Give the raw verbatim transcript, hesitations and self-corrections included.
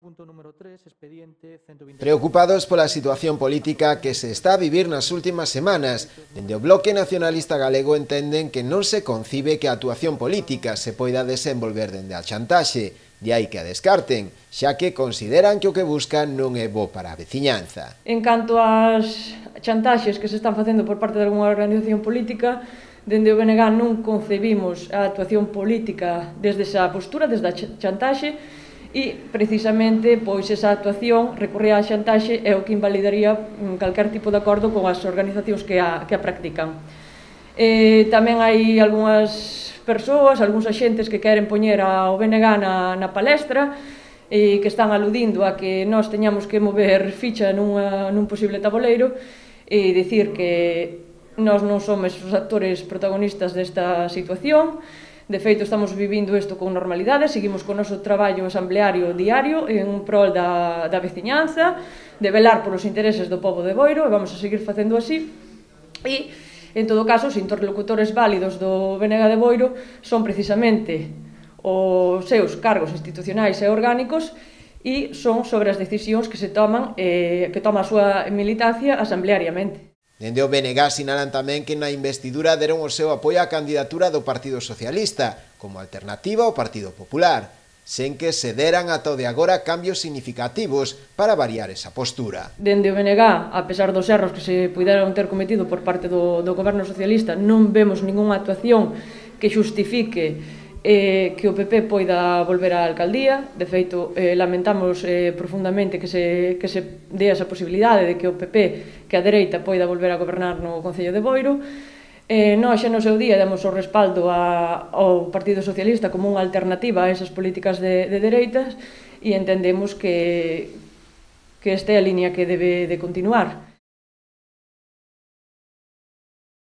Punto número tres, expediente ciento vinte. Preocupados pola situación política que se está a vivir nas últimas semanas, dende o Bloque Nacionalista Galego entenden que non se concibe que a actuación política se poida desenvolver dende a chantaxe, de aí que a descarten, xa que consideran que o que buscan non é bo para a veciñanza. En canto ás chantaxes que se están facendo por parte de algunha organización política, dende o B N G non concebimos a actuación política desde esa postura, desde a chantaxe, e precisamente pois esa actuación recorrer á chantaxe é o que invalidaría calquer tipo de acordo con as organizacións que a, que a practican. E tamén hai algunhas persoas, algúns axentes que queren poñer ao B N G na, na palestra e que están aludindo a que nós teñamos que mover ficha nunha, nun posible tabuleiro e dicir que nós non somos os actores protagonistas desta situación. De feito, estamos vivindo isto con normalidade, seguimos con o noso traballo asambleario diario en prol da, da veciñanza, de velar polos intereses do pobo de Boiro, e vamos a seguir facendo así. E, en todo caso, os interlocutores válidos do B N G de Boiro son precisamente os seus cargos institucionais e orgánicos e son sobre as decisións que se toman, eh, que toma a súa militancia asambleariamente. Dende o B N G sinalan tamén que na investidura deron o seu apoio á candidatura do Partido Socialista, como alternativa ao Partido Popular, sen que se deran ata o de agora cambios significativos para variar esa postura. Dende o B N G, a pesar dos erros que se puderon ter cometido por parte do, do Goberno Socialista, non vemos ningunha actuación que xustifique Eh, que o P P poida volver á alcaldía. De feito, eh, lamentamos eh, profundamente que se, que se dé esa posibilidade de que o P P, que a dereita poida volver a gobernar no Concello de Boiro. Eh, nós xa no seu día demos o respaldo a, ao Partido Socialista como unha alternativa a esas políticas de, de dereitas e entendemos que, que esta é a línea que debe de continuar.